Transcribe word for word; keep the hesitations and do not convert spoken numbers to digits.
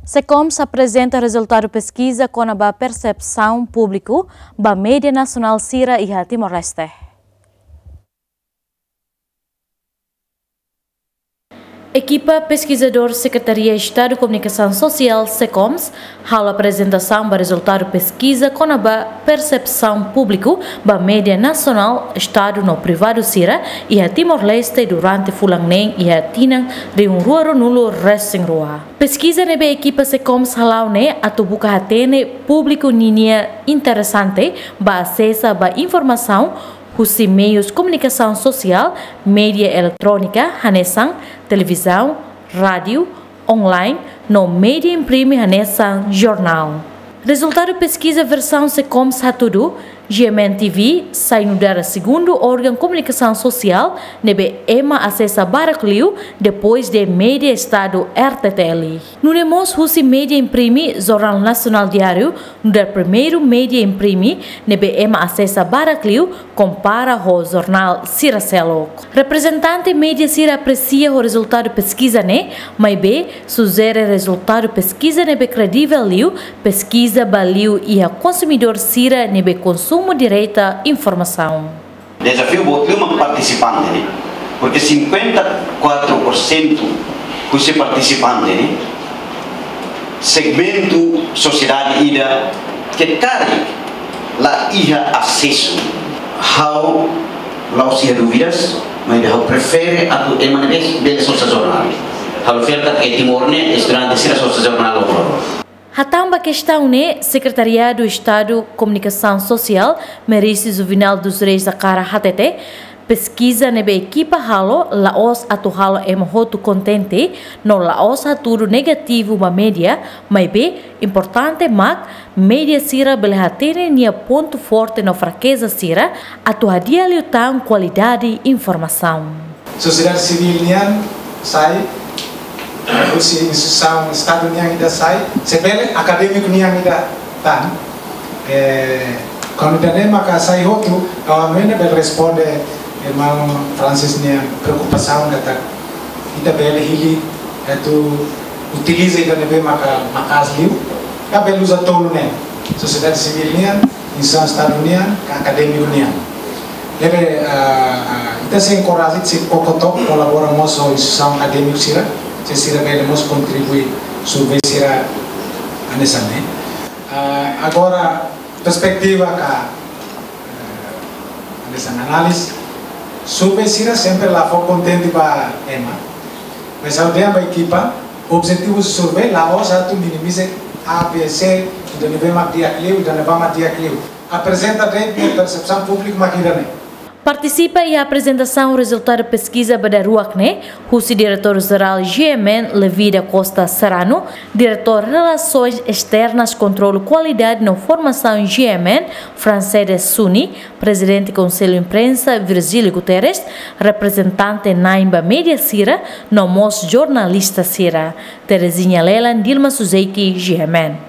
SECOMS aprezenta rezultadu peskiza kona-ba persepsaun públiku ba média nasionál sira iha Timor-Leste. Ekipa peskizadór Sekretaria Estadu Komunikasaun Sosiál, SECOMS, halo aprezentasaun ba rezultadu peskiza kona-ba persepsaun públiku ba média nasionál, estadu no privadu sira iha Timor-Leste durante fulan neen iha tinan rihun rua ruanulu resin rua. Peskiza ne'ebé ekipa SECOMS hala'o ne'e atu buka hatene públiku ninia interese ba asesa ba informasaun husi meius komunikasaun sosiál, média eletrónika, hanesan televizaun, rádiu, online, no média imprime hanesan jornál. Rezultadu peskiza versaun SECOMS hatudu, GMN TV sai nu'udar segundu órgaun komunikasaun sosiál ne'ebé ema asesa barak liu depois de média estadu RTTL. Nune'e mós husi média imprime, Jornál Nasionál Diáriu nu'udar primeiru média imprime ne'ebé ema asesa barak liu kompara ho jornál sira seluk. Reprezentante média sira apresia ho rezultadu peskiza ne'e, maibé sujere rezultadu peskiza ne'ebé kredivel liu, peskiza ba liu iha konsumidór sira ne'ebé konsumu direta informasaun. Dezafiu boot liu mak partisipante ne'e, porque cinquenta e quatro por cento husi partisipante ne'e, segmentu sosiedade ida ke karik la iha asesu. Ha'u la'ós iha dúvidas, maibé ha'u prefere atu ema ne'ebé bele sosa jornál. Ha'u fiar katak iha Timor ne'e estudante sira sosa jornál loron. Hatán ba kestaun ne'e, Sekretariadu Estadu Komunikasaun Sosiál, Merice Juvenal dos Reis Acara hatete, peskiza ne'ebé ekipa halo la'ós atu halo ema hotu kontente, no la'ós hatudu negativu ba média, maibé importante mak média sira bele hatene nia pontu forte no frakeza sira, atu hadi'a liután kualidade informasaun. Sosiedade sivíl nian sai, husi instituisaun Estadu nian ida sai, se bele akadémiku nian ida tan. Eh, kuandu ida-ne'e maka sai hotu, ha'u hanoin bele responde irmaun Francis nia preokupasaun katak ita bele hili atu utiliza ida ne'ebé maka maka'as liu, ka bele uza tolu ne'e. Sosiedade sivíl nian, instituisaun Estadu nian, ka akadémiku nian. Ne'ebé, ah, ah, ita sei enkoraja, sei koko took, kolabora mós ho instituisaun akadémiku sira, se sira bele mós kontribui survey sira hanesan ne'e. Ah, agora, perspetiva ka, eh, hanesan análize, survey sira sempre la fó kontente ba ema. Mas ha'u dehan ba ekipa, objetivu survey la'ós atu minimiza A, B, C, ida-ne'ebé mak di'ak liu, ida-ne'ebá mak di'ak liu. Aprezenta de'it persepsaun públiku mak ida-ne'e. Partisipa iha aprezentasaun rezultadu peskiza ba daruak ne'e, husi Diretór Jerál GMN Levi da Costa Serrano, Diretór Relasoens Esternas, Kontrolu Kualidade no Formasaun GMN Francedes Suni, Prezidente Konsellu Imprensa Virgílio Guterres, reprezentante na'in ba média sira, no mós jornalista sira. Terezinha Lelan, Dilma Suzeiki, GMN.